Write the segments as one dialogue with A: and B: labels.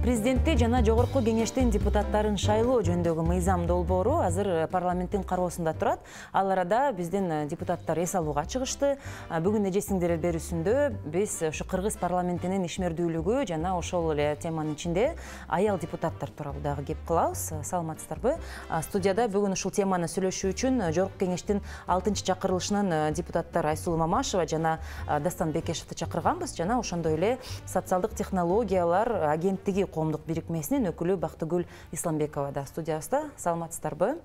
A: Президентти жана жогорку кеңештин депутаттарын шайлоо жөнүндөгү мыйзам долбоору азыр парламенттин кароосунда турат. Ал арада биздин депутаттар эс алууга чыгышты. Бүгүн эжесиңдер берүүсүндө биз ушу кыргыз парламентинин ишмердүүлүгү жана ошол эле теманын ичинде аял депутаттар тууралуу дагы кеп кылабыз. Саламатсыздарбы? Студияда бүгүн ушул теманы сүйлөшүү үчүн жогорку кеңештин 6-чакырылышынын депутаттары Айсулуу Мамашева жана Дастан Бекешевди чакырганбыз жана ошондой эле социалдык технологиялар агенттиги коомдук бирикмесинин өкүлү Бактыгүл Исламбекова да студиябызда. Саламатсыздарбы?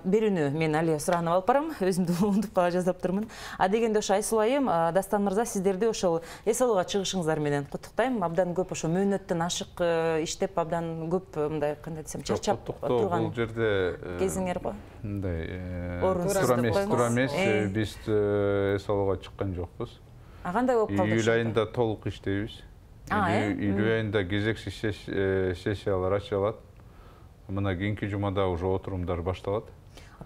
A: Берүүнү мен Алия суранып алып барам, өзүмдү унутуп кала жаздап турмун. Дегенде ошо Айсулуу айым, Дастан мырза, сиздерди ошол эс алууга чыгышыңыздар менен куттуктайм. Абдан көп ошо мөөнөттөн ашык иштеп, абдан көп мындай кандай десем, чарчап турган
B: бул жерде
A: кезиңер го.
B: Мындай туура эмес, биз эс алууга чыккан жокпуз.
A: Кандай болуп калды?
B: Июль айында толук иштейбиз. Июль айында кезекси сессиялар ачылат. Мына кийинки жумада уже отурумдар башталат.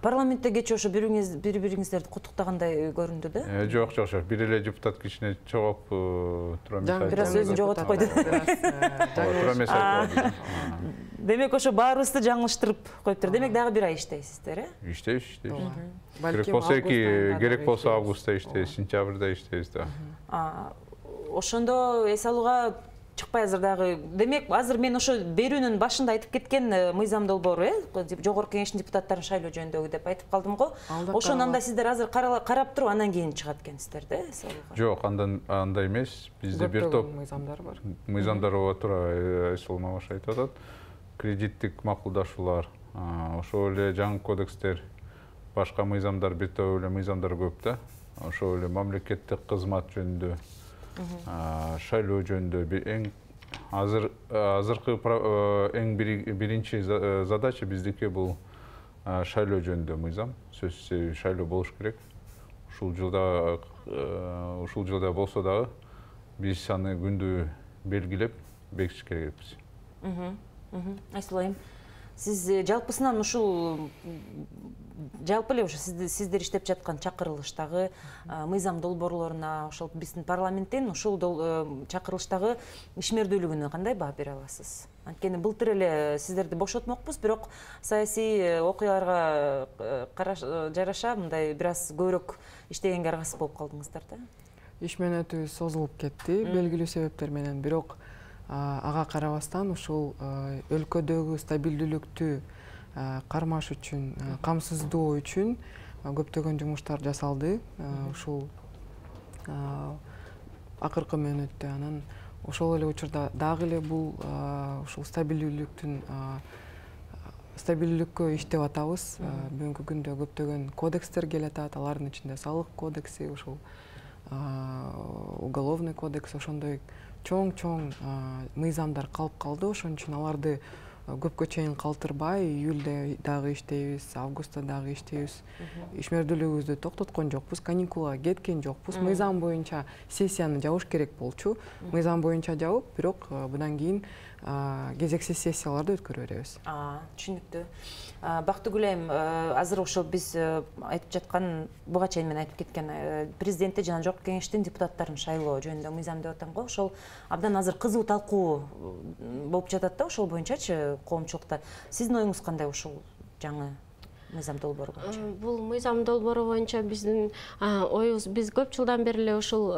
A: Парламентте кечээ ошо бири-бириңиздерди куттуктагандай көрүндү да?
B: Жок. Бир эле депутат кичине чогоп тура эмес.
A: Бир аз өзүн жоготуп койду.
B: Тура эмес айтып.
A: Демек ошо баарыбызды жаңылыштырып коюптур. Демек дагы бир ай иштейсиздер,
B: Иштейбиз. Керек болсо августта иштейбиз, сентябрда иштейбиз да.
A: Ошондо эс алууга чыкпай азыр дагы. Демек, азыр мен ошо берүүнүн башында айтып кеткен мыйзам долбоору, жогорку кеңештин депутаттарын шайлоо жөнүндөгү деп айтып калдым го. Ошону анда сиздер азыр карап туруп, андан кийин чыгат экенсиздер да, эс алууга?
B: Жок, андай эмес. Бизде бир топ
C: мыйзамдар бар.
B: Мыйзамдар болот, туура Айсулуу Мамашева айтып атат. Кредиттик макулдашуулар, ошол эле жаңы кодекстер, башка мыйзамдар, бир топ эле мыйзамдар көп да. Ошол эле мамлекеттик кызмат жөнүндө, шайлоо жөнүндө азыркы эң биринчи задача биздики бул шайлоо жөнүндө мыйзам. Сөзсүз шайлоо болуш керек. Ушул жылда болсо дагы биз аны күндү белгилеп бекитиш керекпиз.
A: Айсулуу айым, сиз жалпысынан ушул жалпы эле ошо сиздер иштеп жаткан чакырылыштагы мыйзам долбоорлоруна, ошол биздин парламенттин ушул чакырылыштагы ишмердүүлүгүнө кандай баа бере аласыз? Анткени былтыр эле сиздерди бошотмокпуз, бирок саясий окуяларга жараша мындай бир аз көбүрөөк иштегенге аргасыз болуп калдыңыздар да?
C: Иш мөөнөтү созулуп кетти белгилүү себептер менен, бирок ага карабастан ушул өлкөдөгү стабилдүүлүктү кармаш үчүн, камсыздоо үчүн көптөгөн жумуштар жасалды. Ушул акыркы мөөнөттө, анан ошол эле учурда дагы эле бул ушул стабилдүүлүккө иштеп атабыз. Бүгүнкү күндө көптөгөн кодекстер келатат, алардын ичинде салык кодекси, ушул уголовный кодекс, ошондой чоң мыйзамдар калып калды. Ошон үчүн аларды көпкө чейин калтырбай, июльдө дагы иштейбиз, августта дагы иштейбиз. Ишмердүүлүгүбүздү токтоткон жокпуз, каникулга кеткен жокпуз. Мыйзам боюнча сессияны жабыш керек болчу. Мыйзам боюнча жабып, бирок мындан кийин кезексиз сессияларды өткөрө беребиз.
A: Түшүнүктүү. Бактыгүл айым, азыр ошол биз айтып жаткан, буга чейин мен айтып кеткен президентти жана жогорку кеңештин депутаттарын шайлоо жөнүндө мыйзам деп атам го. Ошол абдан азыр кызуу талкуу болуп жатат да, ошол боюнчачы коомчулукта. Сиздин оюңуз кандай ушул жаңы мыйзам долбоору боюнча?
D: Бул мыйзам долбоору боюнча биздин оюбуз, биз көп жылдан бери эле ушул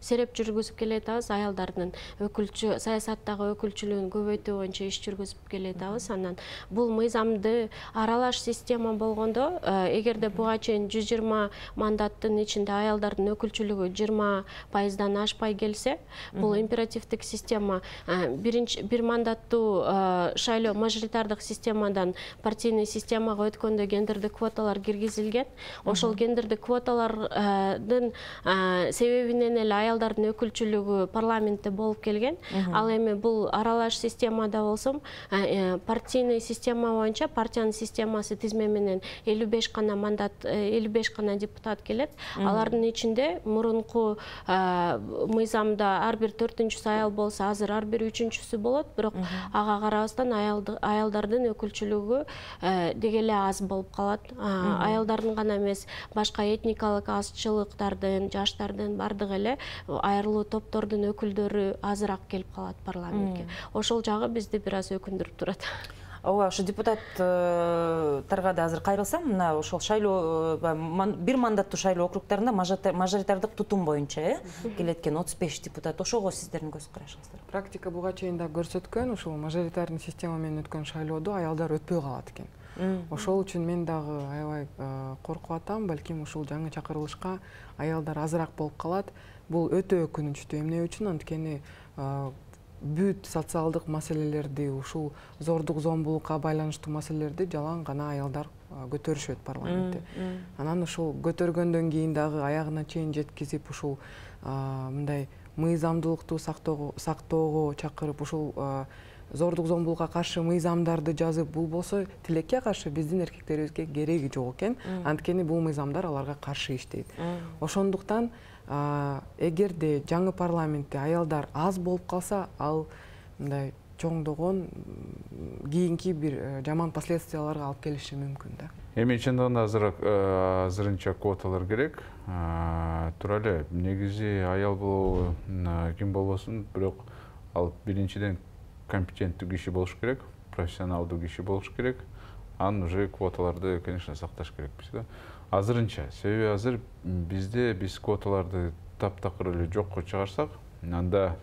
D: сереп жүргүзүп келатабыз, аялдардын саясаттагы өкүлчүлүгүн көбөйтүү боюнча иш жүргүзүп келатабыз. Анан бул мыйзамды аралаш система болгондо, эгерде буга чейин 120 мандаттын ичинде аялдардын өкүлчүлүгү 20%дан ашпай келсе, бул императивдик система бир мандаттуу шайлоо мажоритардык системадан партийный системага өткөн гендердик квоталар киргизилген. Ошол гендердик квоталардын себебинен эле аялдардын өкүлчүлүгү парламентте болуп келген. Ал эми бул аралаш системада болсом, партийный система боюнча партиянын системасы тизме менен 55 гана мандат, 55 гана депутат келет. Алардын ичинде мурунку мыйзамда ар бир 4-чүсү аял болсо, азыр ар бир 3-чүсү болот, бирок ага карабастан аялдардын өкүлчүлүгү деги эле аз болуп калат. Аялдардын гана эмес, башка этникалык азчылыктардын, жаштардын бардыгы эле айрылуу топтордун өкүлдөрү азыраак келип калат парламентке. Ошол жагы бизди бир аз өкүндүрүп турат.
A: Ооба, ошо депутаттарга да азыр кайрылсам, мына ошол шайлоо бир мандаттуу шайлоо округдарында мажоритардык тутум боюнча келет экен 35 депутат. Ошого сиздердин көз карашыңыздар?
C: Практика буга чейин да көрсөткөн, ушул мажоритарный система менен өткөн шайлоодо аялдар өтпөй калат экен. Ошол үчүн мен дагы аябай коркуп атам, балким ушул жаңы чакырылышка аялдар азыраак болуп калат. Бул өтө өкүнүчтүү. Эмне үчүн? Анткени бүт социалдык маселелерди, ушул зордук зомбулукка байланыштуу маселелерди жалаң гана аялдар көтөрүшөт парламентте. Анан ушул көтөргөндөн кийин дагы аягына чейин жеткизип ушул мындай мыйзамдуулукту сактоого чакырып, ушул зордук зомбулукка каршы мыйзамдарды жазып, бул болсо тилекке каршы биздин эркектерибизге кереги жок экен. Анткени бул мыйзамдар аларга каршы иштейт. Ошондуктан эгерде жаңы парламентте аялдар аз болуп калса, ал мындай чоңдогон кийинки бир жаман последствияларга алып келиши мүмкүн да.
B: Эми чындыгында азырынча квоталар керек. Тура эле негизи аял болобу, ким болбосун, бирок ал биринчиден компетенттүү киши болуш керек, профессионалдуу киши болуш керек. Анан уже квоталарды, конечно, сакташ керекпиз да. Азырынча, себеби азыр биз квоталарды таптакыр эле жокко чыгарсак, анда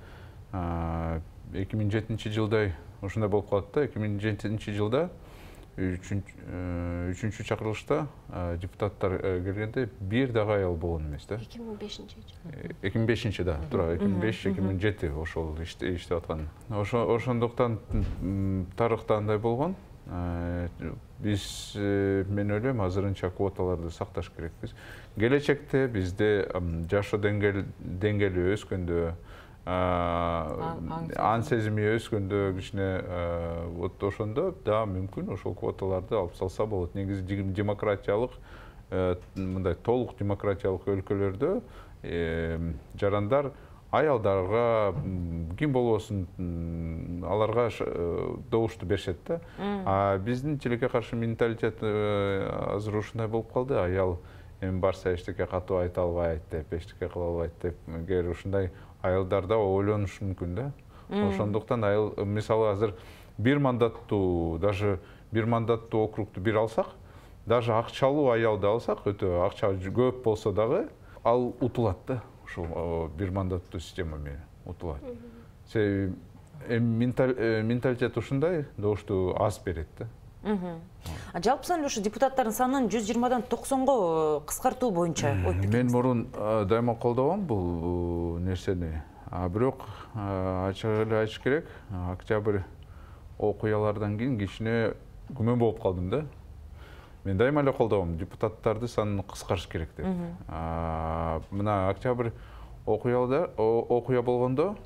B: 2007 жылдай ушундай болуп калат да. 2007 жылда 3-чү чакырылышта депутаттар келгенде бир дагы аял болгон эмес да. 2005 да, туура 2005-2007 ошол иштеп аткан. Ошондуктан тарыхта андай болгон. Биз мен ойлойм азырынча квоталарды сакташ керекпиз. Келечекте бизде жашоо деңгээли өскөндө, ан сезими өскөндө кичине вот ошондо да мүмкүн ошол квоталарды алып салса болот. Негизи демократиялык, мындай толук демократиялык өлкөлөрдө жарандар аялдарга ким болбосун аларга добушту беришет да. Биздин тилекке каршы менталитет азыр ушундай болуп калды. Аял эми барса эчтеке катуу айта албайт деп, эчтеке кыла албайт деп, эгер ушундай аялдар да ойлонушу мүмкүн да. Ошондуктан аял мисалы азыр бир мандаттуу округду бир алсак, даже акчалуу аялды алсак, өтө акча көп болсо дагы ал утулат да. Ушул бир мандаттуу система менен утулат. Себеби менталитет ушундай, добушту аз берет да.
A: Жалпысынан эле ушу депутаттардын санын 120дан 90го кыскартуу боюнча ой пикириңиз?
B: Мен мурун дайыма колдогом бул нерсени. Бирок ачык эле айтыш керек, октябрь окуялардан кийин кичине күмөн болуп калдым да. Мен дайыма эле колдогом, депутаттарды санын кыскартыш керек деп. Мына октябрь окуя болгондо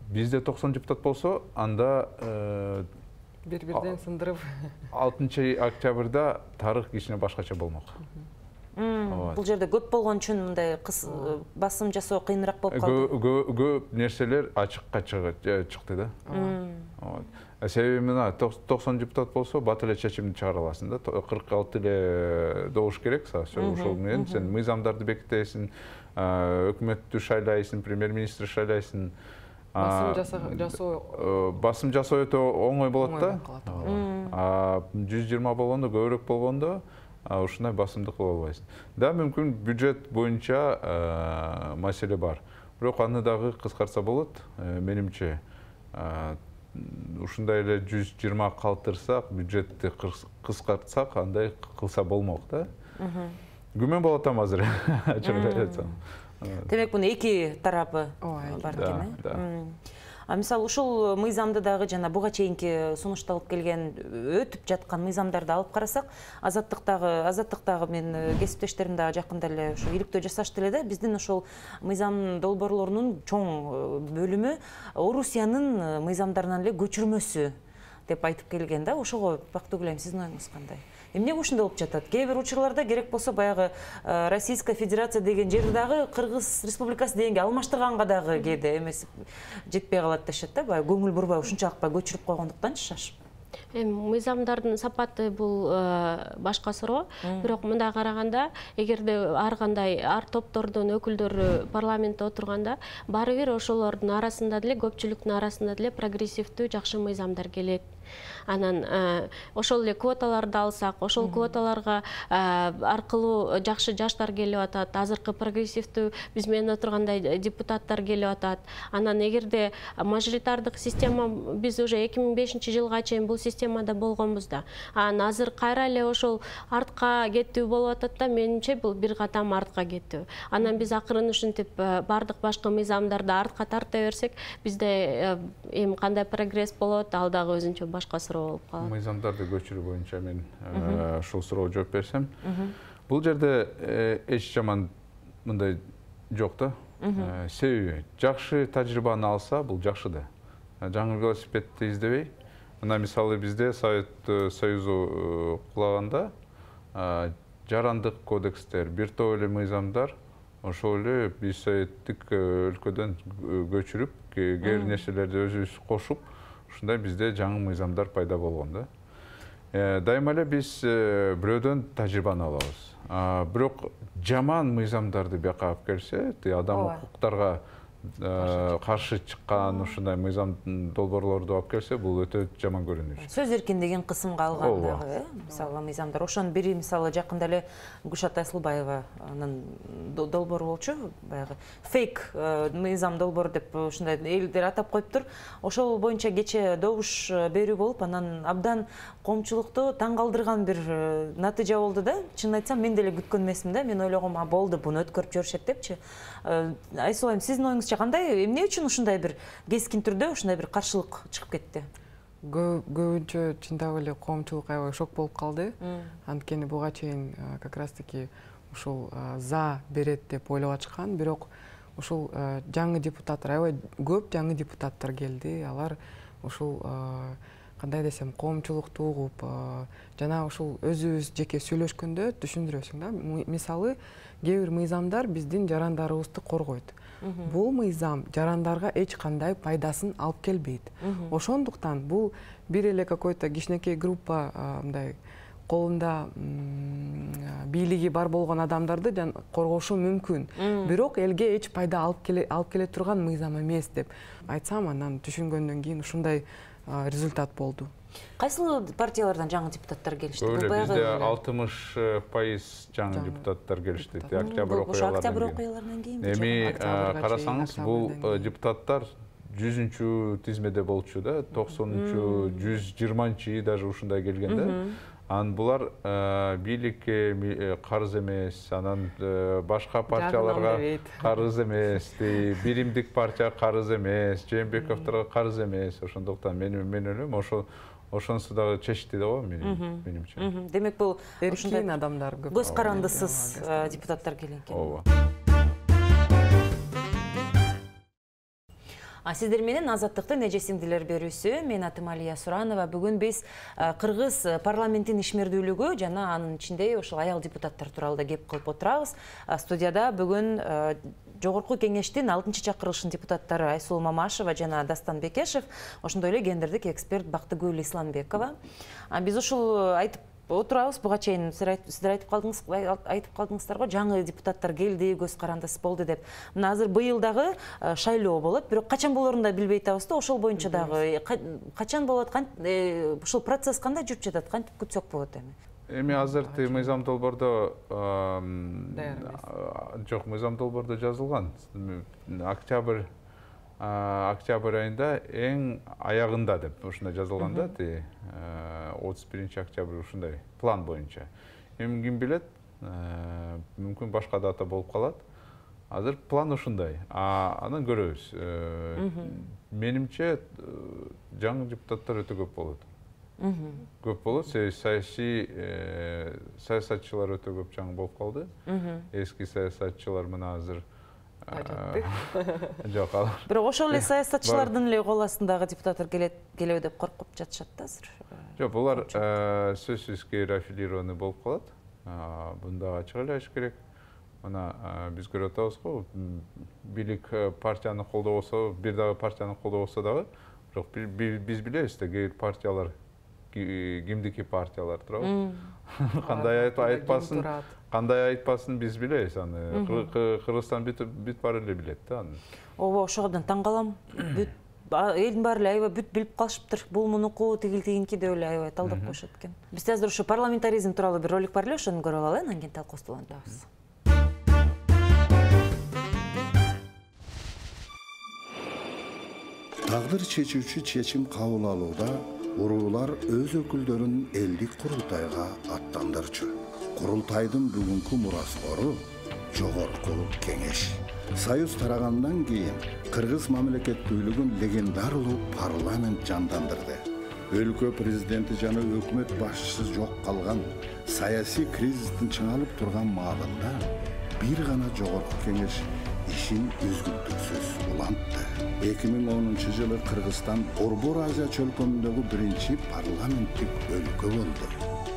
B: бизде 90 депутат болсо, анда
C: бир-бирден сындырып
B: 6 октябрда тарых кичине башкача болмок.
A: Бул жерде көп болгон үчүн мындай басым жасоо кыйыныраак болуп калды.
B: Көп нерселер ачыкка чыкты да. Себеби мына 90 депутат болсо бат эле чечимди чыгара аласың да. 46 эле добуш керек, ошол менен сен мыйзамдарды бекитесиң, өкмөттү шайлайсың, премьер-министр шайлайсың. Басым жасоо өтө оңой болот да. 120 болгондо, көбүрөөк болгондо ушундай басымды кыла албайсың. Да, мүмкүн бюджет боюнча маселе бар. Бирок аны дагы кыскартса болот, менимче. Ушундай эле 120 калтырсак, бюджетти кыскартсак, андай кылса болмок да. Күмөн болот атам азыр.
A: Демек буну эки тарапы бар экен, э? Мисалы ушул мыйзамды дагы жана буга чейинки сунушталып келген өтүп жаткан мыйзамдарды алып карасак, азаттыктагы мен кесиптештерим дагы жакында эле ушу иликтөө жасашты эле да. Биздин ошол мыйзам долбоорлорунун чоң бөлүмү Орусиянын мыйзамдарынан эле көчүрмөсү деп айтып келген да. Ошого Бактыгүл, сиздин оюңуз кандай? Эмне ушундай болуп жатат? Кээ бир учурларда керек болсо баягы Российская Федерация деген жерди дагы Кыргыз Республикасы дегенге алмаштырганга дагы кээде эмес жетпей калат дешет да. Баягы көңүл бурбай ушунчалык көчүрүп койгондуктанчы шашып.
D: Мыйзамдардын сапаты бул башка суроо. Бирок мындай караганда, эгерде ар топтордун өкүлдөрү парламентте отурганда, баары бир ошолордун арасында деле, көпчүлүктүн арасында деле прогрессивдүү жакшы мыйзамдар келет. Анан ошол эле квоталарды алсак, ошол квоталарга аркылуу жакшы жаштар келип атат, азыркы прогрессивдүү биз менен отургандай депутаттар келип атат. Анан эгерде мажоритардык система, биз уже 2005-жылга чейин бул системада болгонбуз да. Анан азыр кайра эле ошол артка кеттүү болуп атат да, менимче бул бир катам артка кеттүү. Анан биз акырын ушинтип бардык башка мыйзамдарды артка тарта берсек, бизде эми кандай прогресс болот, ал дагы өзүнчө башка суроо болуп калат.
B: Мыйзамдарды көчүрүү боюнча мен ушул суроого жооп берсем, бул жерде эч жаман мындай жок да. Себеби жакшы тажрыйбаны алса, бул жакшы да. Жаңы велосипедди издебей, мына мисалы бизде Совет Союзу кулаганда жарандык кодекстер, бир топ эле мыйзамдар ошол эле биз советтик өлкөдөн көчүрүп, кээ нерселерди өзүбүз кошуп, ушундай бизде жаңы мыйзамдар пайда болгон да. Дайыма эле биз бирөөдөн тажрыйбаны алабыз. Бирок жаман мыйзамдарды бияка алып келсе, адам укуктарга каршы чыккан ушундай мыйзам долбоорлорду алып келсе, бул өтө жаман көрүнүш.
A: Сөз эркиндигин кысымга алгандагы, мисалы мыйзамдар. Ошонун бири мисалы жакында эле Гүлшат Айсылбаеванын долбоору болчу, баягы фейк мыйзам долбоор деп ушундай элдер атап коюптур. Ошол боюнча кече добуш берүү болуп, анан абдан коомчулукту таң калтырган бир натыйжа болду да. Чынын айтсам, мен деле күткөн эмесмин да. Мен ойлогом, болду, буну өткөрүп жиберишет депчи. Айсылайым, сиздин оюңузча кандай, эмне үчүн ушундай бир кескин түрдө ушундай бир каршылык чыгып кетти?
C: Көбүнчө чындап эле коомчулук аябай шок болуп калды. Анткени буга чейин как раз таки ушул за берет деп ойлоп ачкан, бирок ушул жаңы депутаттар, аябай көп жаңы депутаттар келди. Алар ушул кандай десем, коомчулукту угуп, жана ушул өзүбүз жеке сүйлөшкөндө түшүндүрөсүң да. Мисалы, кээ бир мыйзамдар биздин жарандарыбызды коргойт. Бул мыйзам жарандарга эч кандай пайдасын алып келбейт. Ошондуктан бул бир эле какой-то кичинекей группа мындай колунда бийлиги бар болгон адамдарды коргошу мүмкүн. Бирок элге эч пайда алып келе турган мыйзам эмес деп айтсам, анан түшүнгөндөн кийин ушундай результат болду.
A: Кайсыл партиялардан жаңы депутаттар келишти?
B: Бизде 60% жаңы депутаттар келишти. Октябрь
A: окуяларынан кийин.
B: Эми карасаңыз, бул депутаттар 100-чү тизмеде болчу да, 90-чү, 120-чы даже ушундай келген да. Анан булар бийликке карыз эмес, анан башка партияларга карыз эмес, биримдик партия карыз эмес, Жээнбековторго карыз эмес. Ошондуктан мен ойлойм, ошонусу дагы чечти да го менимче.
A: Демек бул
C: ушундай адамдар көп.
A: Көз карандысыз депутаттар келген экен.
B: Ооба.
A: Сиздер менен Азаттыктын эжесиңдилер берүүсү. Мен атым Алия Суранова. Бүгүн биз Кыргыз парламентин ишмердүүлүгү жана анын ичинде ошол аял депутаттар тууралуу кеп кылып отурабыз. Студияда бүгүн Жогорку кеңештин 6-чакырылышынын депутаттары Айсулуу Мамашева жана Дастан Бекешев, ошондой эле гендердик эксперт Бактыгүл Исламбекова. Биз ушул айтып отурабыз, буга чейин сиздер айтып калдыңыздар го, жаңы депутаттар келди, көз карандысы болду деп. Мына азыр быйыл дагы шайлоо болот, бирок качан болорун да билбей атабыз да. Ошол боюнча дагы качан болот, ушул процесс кандай жүрүп жатат, кантип күтсөк болот эми?
B: Эми азыркы мыйзам долбоордо жок, мыйзам долбоордо жазылган. Октябрь айында эң аягында деп ушундай жазылган да, 31-октябрь ушундай план боюнча. Эми ким билет, мүмкүн башка дата болуп калат. Азыр план ушундай. Анан көрөбүз. Менимче жаңы депутаттар өтө көп болот. Көп болот, саясатчылар өтө көп жаңы болуп калды. Эски саясатчылар мына азыр жок, алар.
A: Бирок ошол эле саясатчылардын эле кол астындагы депутаттар келеби деп коркуп жатышат да азыр.
B: Жок, булар сөзсүз кээ аффилированный болуп калат. Буну дагы ачык эле айтыш керек. Мына биз көрүп атабыз го, бийлик партияны колдобосо, бир дагы партияны колдобосо дагы, бирок биз билебиз да, кээ бир партиялар кимдики партиялар турабы. Кандай айтпасын биз билебиз аны. Кыргызстан бүт баары эле билет да аны.
A: Ооба, ошондон таң калам. Элдин баары эле аябай бүт билип калышыптыр. Бул мунуку, тигинки деп эле аябай талдап коюшат экен. Бизде азыр ушу парламентаризм тууралуу бир ролик бар эле, ошону көрүп алалы, анан кийин талкуубузду улантабыз.
E: Тагдыр чечүүчү чечим кабыл алууда уруулар өз өкүлдөрүн элдик курултайга аттандырчу. Курултайдын бүгүнкү мураскору Жогорку Кеңеш. Союз тарагандан кийин кыргыз мамлекеттүүлүгүн легендарылуу парламент жандандырды. Өлкө президенти жана өкмөт башчысы жок калган саясий кризистин чыңалып турган маалында бир гана Жогорку Кеңеш ишин үзгүлтүксүз улантты. 2010-жылы Кыргызстан Борбор Азия чөлкөмүндөгү биринчи парламенттик өлкө болду.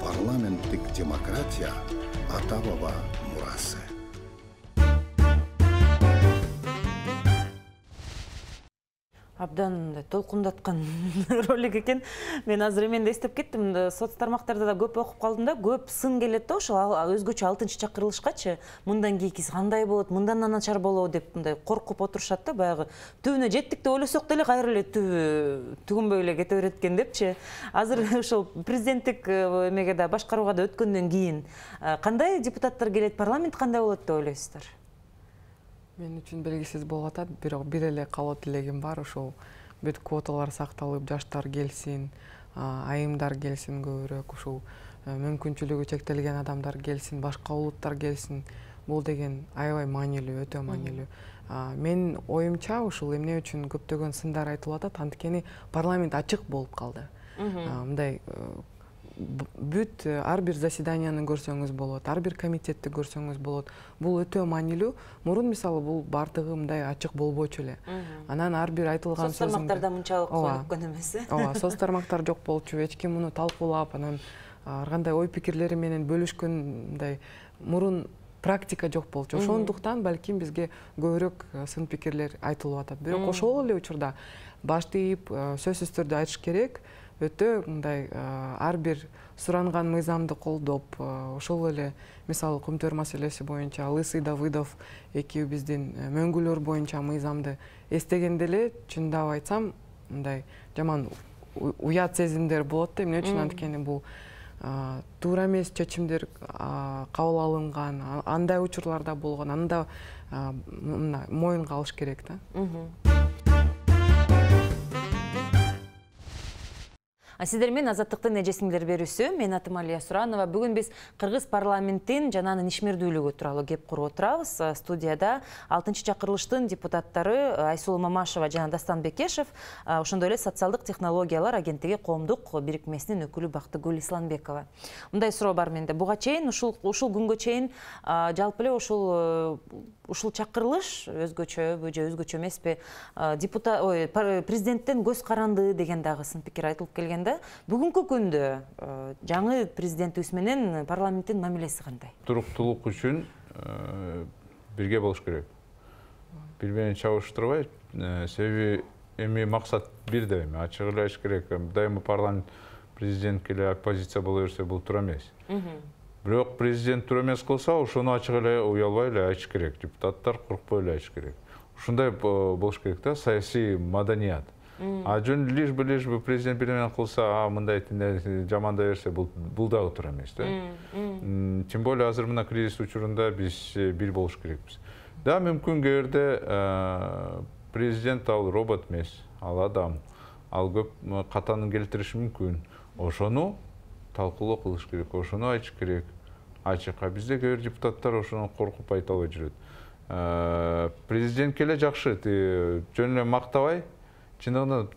E: Парламенттик демократия ата-баба мурасы.
A: Абдан толкундаткан ролик экен. Мен азыр эменде эстеп кеттим. Соц тармактарда да көп окуп калдым да, көп сын келет да ошол өзгөчө 6-чакырылышкачы мындан кийинкиси кандай болот, мындан начар болобу деп мындай коркуп отурушат да, баягы түбүнө жеттик деп ойлосок деле кайра эле түгүнбөй эле кете берет экен депчи. Азыр ошол президенттик эмеге да башкарууга да өткөндөн кийин кандай депутаттар келет, парламент кандай болот деп ойлойсуздар?
C: Мен үчүн белгисиз болуп атат, бирок бир эле каалоо тилегим бар, ошол бүт квоталар сакталып, жаштар келсин, айымдар келсин көбүрөөк, ушул мүмкүнчүлүгү чектелген адамдар келсин, башка улуттар келсин. Бул деген аябай маанилүү, өтө маанилүү. Мен оюмча ушул эмне үчүн көптөгөн сындар айтылып атат, анткени парламент ачык болуп калды. Мындай бүт ар бир заседанияны көрсөңүз болот, ар бир комитетти көрсөңүз болот. Бул өтө маанилүү. Мурун мисалы бул бардыгы мындай ачык болбочу эле. Анан ар бир айтылган сөз
A: соц тармактарда мынчалык өнүккөн эмес.
C: Ооба, соц тармактар жок болчу, эч ким муну талкуулап, анан ар кандай ой пикирлери менен бөлүшкөн мындай мурун практика жок болчу. Ошондуктан балким бизге көбүрөөк сын пикирлер айтылып атат. Бирок ошол эле учурда башты ийип сөзсүз түрдө айтыш керек. Өтө мындай ар бир суранган мыйзамды колдоп, ошол эле мисалы Кумтөр маселеси боюнча Лысый Давыдов экөөбүздүн мөңгүлөр боюнча мыйзамды эстегенде эле, чындап айтсам, мындай жаман уят сезимдер болот да. Эмне үчүн? Анткени бул туура эмес чечимдер кабыл алынган, андай учурларда болгон, анда моюнга алыш керек да.
A: Сиздер менен Азаттыктын эжесиңдер берүүсү. Мен атым Алия Суранова. Бүгүн биз Кыргыз парламентин жана анын ишмердүүлүгү тууралуу кеп куруп отурабыз. Студияда 6-чакырылыштын депутаттары Айсулуу Мамашева жана Дастан Бекешев, ошондой эле социалдык технологиялар агенттиги коомдук бирикмесинин өкүлү Бактыгүл Исламбекова. Мындай суроо бар менде. Буга чейин ушул күнгө чейин жалпы эле ушул чакырылыш өзгөчөбү же өзгөчө эмеспи? Президенттен көз каранды деген дагы сын пикир айтылып келгенде, бүгүнкү күндө жаңы президентибиз менен парламенттин мамилеси кандай?
B: Туруктуулук үчүн бирге болуш керек. Бири менен чабыштырбай, себеби эми максат бир да эми, ачык эле айтыш керек. Дайыма парламент президентке эле оппозиция боло берсе, бул туура эмес. Бирок президент туура эмес кылса, ошону ачык эле уялбай эле айтыш керек. Депутаттар коркпой эле айтыш керек. Ушундай болуш керек да, саясий маданият. Жөн лишь бы президент бир менен кылса, мындай жамандай берсе, бул дагы туура эмес да. Тем более азыр мына кризис учурунда биз бир болуш керекпиз. Да, мүмкүн кээрде президент ал робот эмес, ал адам, ал көп катанын келтириши мүмкүн. Ошону талкуулоо кылыш керек, ошону айтыш керек. Ачык. Бизде кээ бир депутаттар ошону коркуп айта албай жүрөт. Президентке эле жакшы, жөн эле мактабай, чындыгында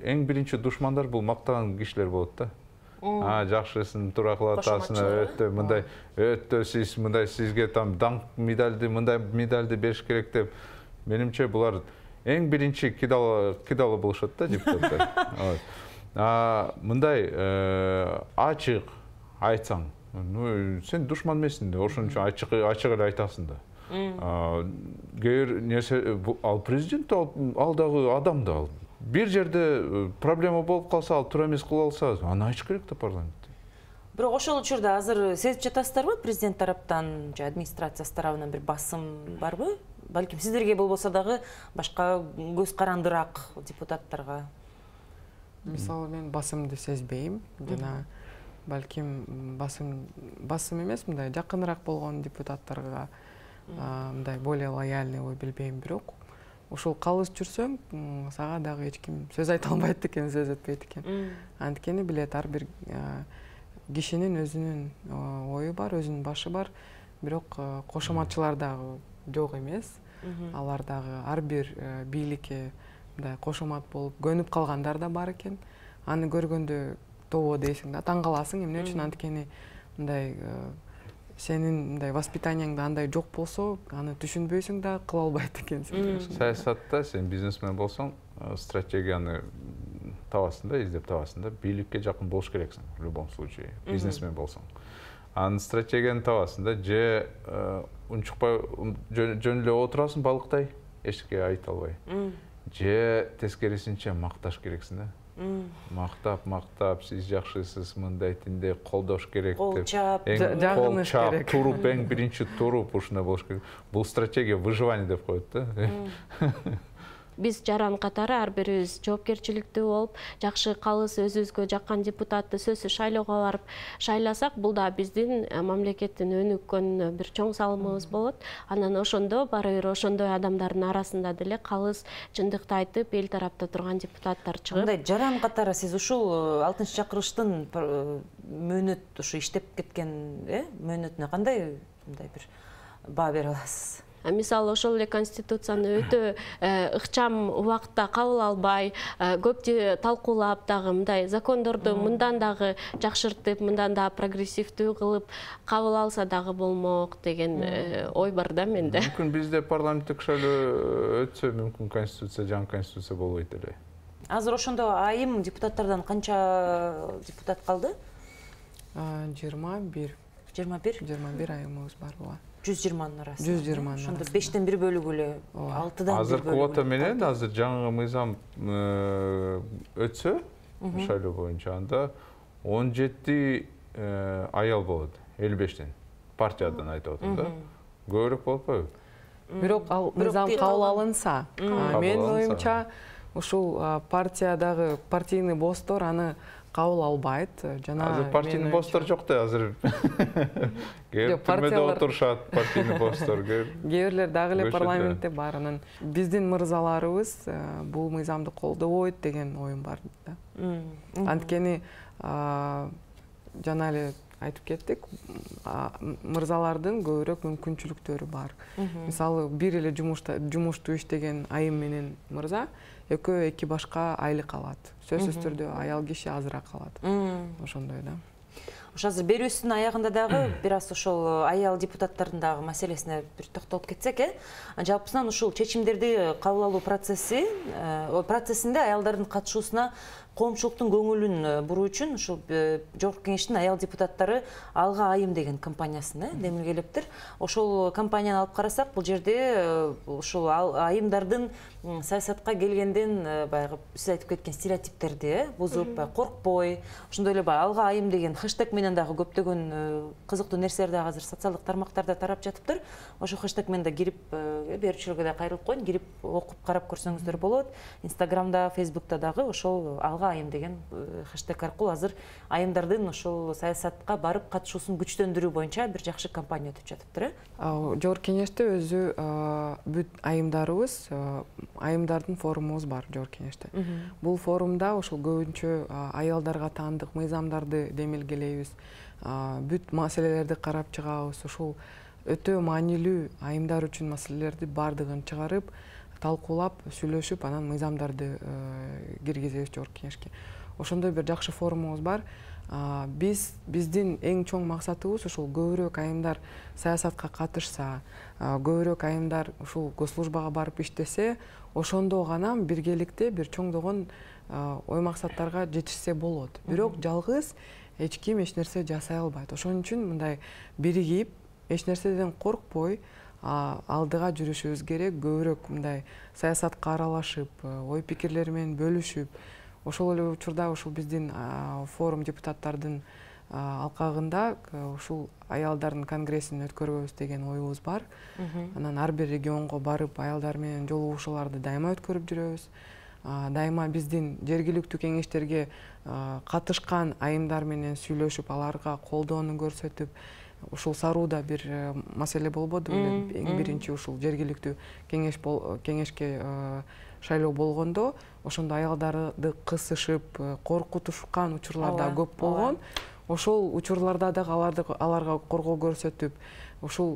B: эң биринчи душмандар бул мактаган кишилер болот да. Жакшысын туура кылып атасың, өтө мындай, өтө сиз мындай, сизге там даңк медальды, мындай медальды бериш керек деп, менимче булар эң биринчи кидалы болушат да депутаттар. Мындай ачык айтсаң, сен душман эмессиң да, ошон үчүн ачык эле айтасың да. Ал президент ал дагы адам да, бир жерде проблема болуп калса, ал туура эмес кыла алса, аны айтыш керек да парламентте.
A: Бирок ошол учурда азыр сезип жатасыздарбы президент тараптан же администрациясы тарабынан бир басым барбы? Балким сиздерге болбосо дагы башка көз карандыраак депутаттарга.
C: Мисалы мен басымды сезбейм жана балким басым эмес, мындай жакыныраак болгон депутаттарга мындай более лояльный ой билбейм, бирок ушул калыс жүрсөң, сага дагы эч ким сөз айта албайт экен, сөз өтпөйт экен. Анткени билет, ар бир кишинин өзүнүн ою бар, өзүнүн башы бар, бирок кошоматчылар дагы жок эмес. Алар дагы ар бир бийликке мындай кошомат болуп көнүп калгандар да бар экен. Аны көргөндө тобо дейсиң да, таң каласың, эмне үчүн, анткени мындай сенин мындай воспитанияңда андай жок болсо, аны түшүнбөйсүң да, кыла албайт экенсиң.
B: Саясатта сен бизнесмен болсоң, стратегияны табасың да, издеп табасың да, бийликке жакын болуш керексиң в любом случае, бизнесмен болсоң. Анын стратегияны табасың да, же унчукпай жөн эле отурасың балыктай, эчке айта албай. Же тескерисинче макташ керексиң да. Мактап, сиз жакшысыз, мындай тиндей колдош керек деп. Кол чап, туруп, эң биринчи туруп ушундай болуш керек. Бул стратегия выживания деп коет да.
D: Биз жаран катары ар бирибиз жоопкерчиликтүү болуп, жакшы калыс өзүбүзгө жаккан депутатты сөзсүз шайлоого барып шайласак, бул да биздин мамлекеттин өнүккөнүнө бир чоң салымыбыз болот. Анан ошондо баары бир ошондой адамдардын арасында деле калыс чындыкты айтып, эл тарапта турган депутаттар чыгып.
A: Мындай жаран катары сиз ушул 6-чакырыштын мөөнөт ушу иштеп кеткен, мөөнөтүнө кандай мындай бир баа бере аласыз?
D: Мисалы, ошол эле конституцияны өтө ыкчам убакытта кабыл албай, көп талкуулап дагы мындай закондорду мындан дагы жакшыртып, мындан да прогрессивдүү кылып кабыл алса дагы болмок деген ой бар да менде.
B: Мүмкүн бизде парламенттик шайлоо өтсө, мүмкүн конституция, жаңы конституция болбойт эле.
A: Азыр ошондо айым депутаттардан канча депутат калды?
C: 21. 21 айымыбыз бар буга.
A: 120-нын арасында.
C: 120-нын
A: Ошондо 5тен 1 бөлүгү эле 6дан 1
B: Азыр квота менен, азыр жаңы мыйзам өтсө, шайлоо боюнча, анда 17 аял болот, 55тен. Партиядан айтып атам да. Көбүрөөк болуп койбу?
C: Бирок ал мыйзам кабыл алынса, менин оюмча, ушул партиядагы партийный босстор аны кабыл албайт.
B: Азыр партийный босстор жок да, азыр түрмөдө отурушат партийный босстор.
C: Кээ бирлер дагы эле парламентте бар. Анан биздин мырзаларыбыз бул мыйзамды колдобойт деген оюм бар да. Анткени жана эле айтып кеттик, мырзалардын көбүрөөк мүмкүнчүлүктөрү бар. Мисалы, бир эле жумушту иштеген айым менен мырза экөө эки башка айлык алат. Сөзсүз түрдө аял киши азыраак алат. Ошондой да.
A: Ошо азыр берүүсүнүн аягында дагы бир аз ошол аял депутаттардын дагы маселесине бир токтолуп кетсек, жалпысынан ушул чечимдерди кабыл алуу процессинде аялдардын катышуусуна коомчулуктун көңүлүн буруу үчүн ушул Жогорку Кеңештин аял депутаттары Алга айым деген компаниясын демилгелептир. Ошол компанияны алып карасак, бул жерде ушул айымдардын саясатка келгенден баягы сиз айтып кеткен стереотиптерди бузуп, коркпой, ошондой эле Алга айым деген хэштег менен дагы көптөгөн кызыктуу нерселер дагы азыр социалдык тармактарда тарап жатыптыр. Ошол хэштег менен да кирип, берүүчүлөргө да кайрылып коеюн, кирип окуп карап көрсөңүздөр болот. Инстаграмда, Фейсбукта дагы ошол Алга айым деген хэштег аркылуу азыр айымдардын ошол саясатка барып катышуусун күчтөндүрүү боюнча бир жакшы кампания өтүп жатыптыр.
C: Жогорку Кеңеште өзү бүт айымдарыбыз, айымдардын форумубуз бар Жогорку Кеңеште. Бул форумда ошол көбүнчө аялдарга таандык мыйзамдарды демилгелейбиз, бүт маселелерди карап чыгабыз. Ушул өтө маанилүү айымдар үчүн маселелерди бардыгын чыгарып, талкуулап, сүйлөшүп, анан мыйзамдарды киргизебиз Жогорку Кеңешке. Ошондой бир жакшы форумубуз бар. Биздин эң чоң максатыбыз ушул көбүрөөк айымдар саясатка катышса, көбүрөөк айымдар ушул госслужбага барып иштесе, ошондо гана биргеликте бир чоңдогон ой максаттарга жетишсе болот. Бирок жалгыз эч ким эч нерсе жасай албайт. Ошон үчүн мындай биригип, эч нерседен коркпой, алдыга жүрүшүбүз керек, көбүрөөк мындай саясатка аралашып, ой пикирлери менен бөлүшүп, ошол эле учурда ушул биздин форум депутаттардын алкагында ушул аялдардын конгрессин өткөрбөбүз деген оюбуз бар. Анан ар бир регионго барып, аялдар менен жолугушууларды дайыма өткөрүп жүрөбүз. Дайыма биздин жергиликтүү кеңештерге катышкан айымдар менен сүйлөшүп, аларга колдоону көрсөтүп, ушул Сарууда бир маселе болбоду беле? Эң биринчи ушул жергиликтүү кеңешке шайлоо болгондо, ошондо аялдарды кысышып, коркутушкан учурлар да көп болгон. Ошол учурларда дагы аларга коргоо көрсөтүп, ушул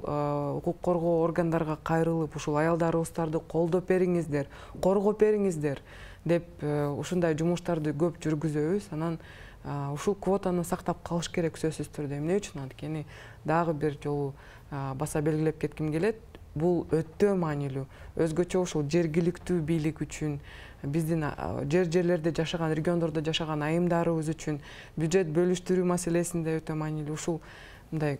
C: укук коргоо органдарга кайрылып, ушул аялдарыбыздарды колдоп бериңиздер, коргоп бериңиздер деп ушундай жумуштарды көп жүргүзөбүз. Анан ушул квотаны сактап калыш керек сөзсүз түрдө. Эмне үчүн? Анткени дагы бир жолу баса белгилеп кетким келет. Бул өтө маанилүү. Өзгөчө ушул жергиликтүү бийлик үчүн, биздин жерлерде жашаган, региондордо жашаган айымдарыбыз үчүн бюджет бөлүштүрүү маселесинде өтө маанилүү. Ушул мындай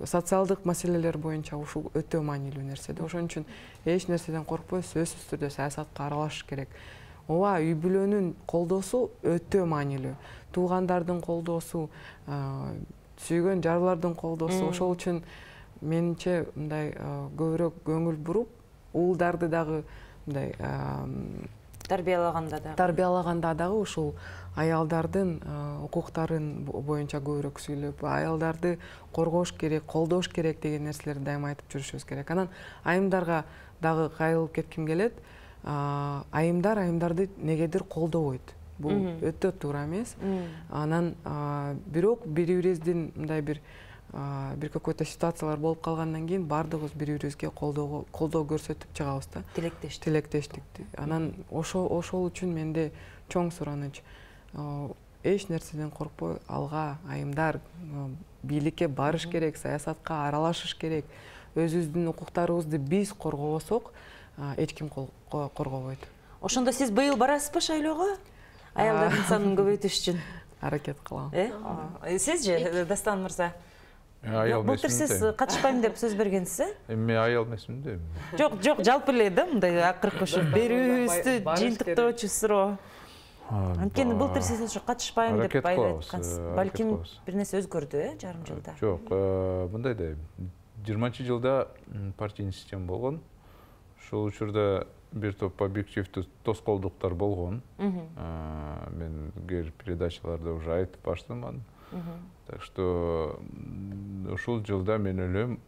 C: социалдык маселелер боюнча ушул өтө маанилүү нерсе. Ошон үчүн эч нерседен коркпой, сөзсүз түрдө саясатка аралашыш керек. Ооба, үй бүлөнүн колдоосу өтө маанилүү. Туугандардын колдоосу, сүйгөн жарлардын колдоосу. Ошол үчүн менимче мындай көбүрөөк көңүл буруп, уулдарды дагы мындай тарбиялаганда дагы ушул аялдардын укуктарын боюнча көбүрөөк сүйлөп, аялдарды коргош керек, колдош керек деген нерселерди дайыма айтып жүрүшүбүз керек. Анан айымдарга дагы кайрылып кетким келет. Айымдарды негедир колдобойт. Бул өтө туура эмес. Анан бирок бири-бирибиздин мындай бир какой-то ситуациялар болуп калгандан кийин баардыгыбыз бири-бирибизге колдоо көрсөтүп чыгабыз да. Тилектештик. Анан ошол үчүн менде чоң сураныч. Эч нерседен коркпой, алга айымдар бийликке барыш керек, саясатка аралашыш керек. Өзүбүздүн укуктарыбызды биз коргобосок, эч ким коргобойт.
A: Ошондо сиз быйыл барасызбы шайлоого? Аялдардын санын көбөйтүш үчүн.
C: Аракет кылам.
A: Сизже, Дастан мырза?
B: Аял эмесмин.
A: Былтыр сиз катышпайм деп сөз бергенсиз,
B: Эми аял эмесмин да.
A: Жок, жалпы эле да, мындай акыркы ушу берүүбүздү жыйынтыктоочу суроо. Анткени былтыр сиз ушу катышпайм деп айткансыз. Балким бир нерсе өзгөрдү, жарым жылда.
B: Жок, мындай да 20-жылда партийный система болгон. Ошол учурда бир топ объективдүү тоскоолдуктар болгон. Мен передачаларда уже айтып баштым аны. Так что ушул жылда мен ойлойм,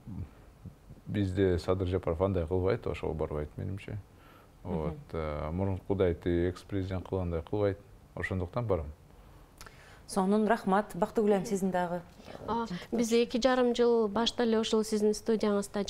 B: бизде Садыр Жапаров андай кылбайт, ошого барбайт менимче. Мурункудайты экс-президент кылгандай кылбайт. Ошондуктан барам.
A: Сонун рахмат. Бактыгүлем, сиздин дагы.
D: Биз 2,5 жыл башта эле ошол сиздин студияңызда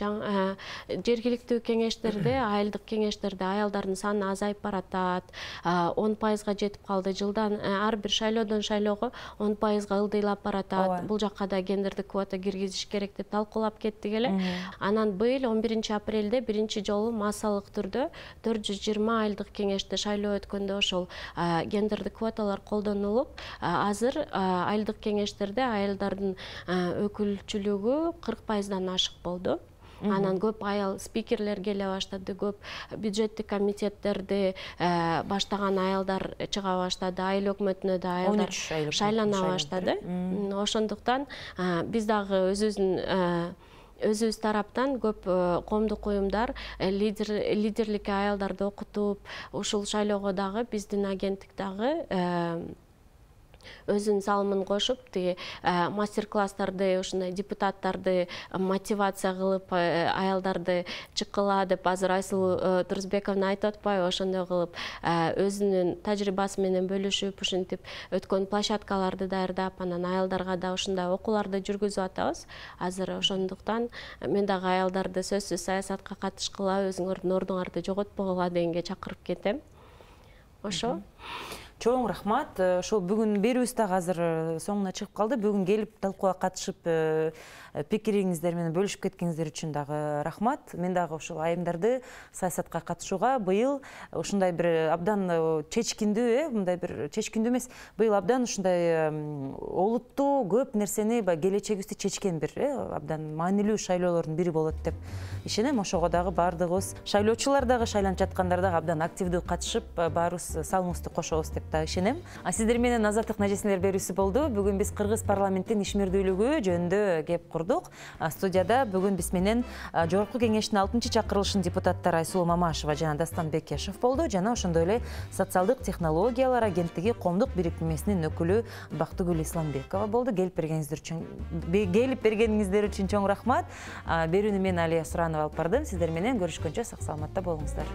D: жергиликтүү кеңештерде, айылдык кеңештерде аялдардын саны азайып баратат, 10%га жетип калды. Жылдан ар бир шайлоодон шайлоого 10%га ылдыйлап баратат. Бул жакка да гендердик квота киргизиш керек деп талкуулап кеттик эле. Анан быйыл 11 апрелде биринчи жолу массалык түрдө 420 айылдык кеңеште шайлоо өткөндө ошол гендердик квоталар колдонулуп, азыр айылдык кеңештерде аялдардын өкүлчүлүгү 40%дан ашык болду. Анан көп аял спикерлер келе баштады, көп бюджеттик комитеттерди баштаган аялдар чыга баштады, айыл өкмөтүнө да аялдар шайлана баштады. Ошондуктан биз дагы өзүбүз тараптан көп коомдук уюмдар лидерлик аялдарды окутуп, ушул шайлоого дагы биздин агенттик дагы өзүнүн салымын кошуп, мастер-класстарды, ушундай депутаттарды мотивация кылып, аялдарды чыккыла деп азыр Айсулуу Турузбековна айтып атпайбы, ошондой кылып өзүнүн тажрыйбасы менен бөлүшүп, ушинтип өткөн площадкаларды даярдап, анан аялдарга да ушундай окууларды жүргүзүп атабыз. Азыр ошондуктан мен дагы аялдарды сөзсүз саясатка катышкыла, өзүңөрдүн ордуңарды жоготпогула дегенге чакырып кетем. Ошо.
A: Чоң рахмат. Ошол бүгүн берүүбүз дагы азыр соңуна чыгып калды. Бүгүн келип талкууга катышып пикириңиздер менен бөлүшүп кеткениңиздер үчүн дагы рахмат. Мен дагы ошол айымдарды саясатка катышууга быйыл ушундай бир абдан чечкиндүү, мындай бир чечкиндүү эмес, быйыл абдан ушундай олуттуу көп нерсени келечегибизди чечкен бир абдан маанилүү шайлоолордун бири болот деп ишенем. Ошого дагы баардыгыбыз шайлоочулар дагы шайланып жаткандар дагы абдан активдүү катышып, баарыбыз салымыбызды кошобуз деп да ишенем. Сиздер менен Азаттык нажесинелер берүүсү болду. Бүгүн биз Кыргыз парламенттин ишмердүүлүгү жөнүндө кеп курдук. Студияда бүгүн биз менен Жогорку кеңештин 6-чакырылышынын депутаттары Айсулуу Мамашева жана Дастан Бекешев болду, жана ошондой эле социалдык технологиялар агенттиги коомдук бириктирмесинин өкүлү Бактыгүл Исламбекова болду. Келип бергениңиздер үчүн чоң рахмат. Берүүнү мен Алия Суранова алып бардым. Сиздер менен көрүшкөнчө сак саламатта болуңуздар.